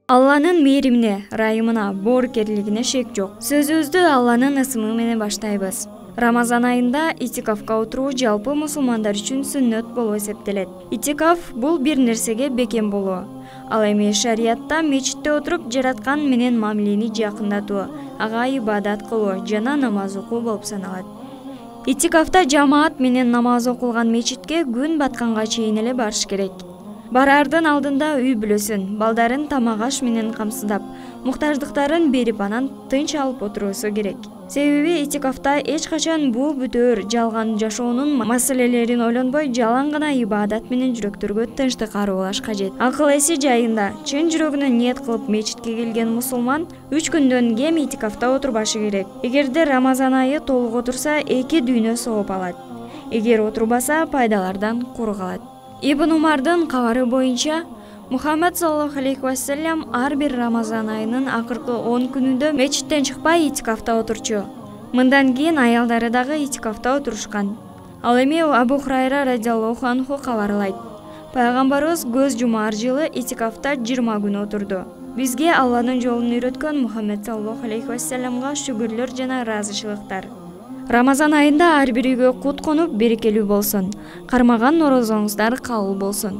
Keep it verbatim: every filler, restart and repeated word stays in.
Алланын мээримине, райымына, боорукерлигине шек жок. Сөзүбүздү Алланын ысымы менен баштайбыз. Рамазан айында итикафка отуруу жалпы мусулмандар үчүн сүннөт болуп эсептелет. Итикаф бул бир нерсеге бекем болуу. Ал эми шариятта мечитте отуруп жараткан менен мамилени жакындатуу, ага ибадат кылуу жана намаз окуу болуп саналат. Итикафта жамаат менен намаз окулган мечитке күн батканга чейин эле барыш керек. Бараардын алдында үй бүлөсүн, балдарын тамак аш менен камсыздап, муктаждыктарын берип анан тынч алып отуруусу керек. Себеби итикафта эч качан буу бүтөөр жалган жашоонун маселелерин ойлонбой, жалаң гана ибадат менен жүрөктөргө тынчтык аруулаш кажет. Акыл эси жайында, чын жүрөгүнөн ниет кылып мечитке келген мусулман үч күндөн кем итикафта отурбашы керек. Эгерде Рамазан айы толук отурса, эки дүйнө сооп алат. Эгер отурбаса, пайдалардан кур калат. Ибн Умардын кабары боюнча, Мухаммед саллаллаху алейхи вассалям ар бир Рамазан айынын акыркы он күнүндө мечиттен чыкпай итикафта отурчу. Мындан кийин аялдары дагы итикафта отурушкан. Ал эми Абу Хурайра радиаллаху анху кабарлайт. Пайгамбарыбыз көз жумаар жылы итикафта жыйырма күн отурду. Бизге Алланын жолун үйрөткөн Мухаммед саллаллаху алейхи вассаламга шүгүрлөр жана ыраазычылыктар. Рамазан айында ар бир үйгө кут конуп, берекелүү болсун. Кармаган орозоңуздар кабыл болсун.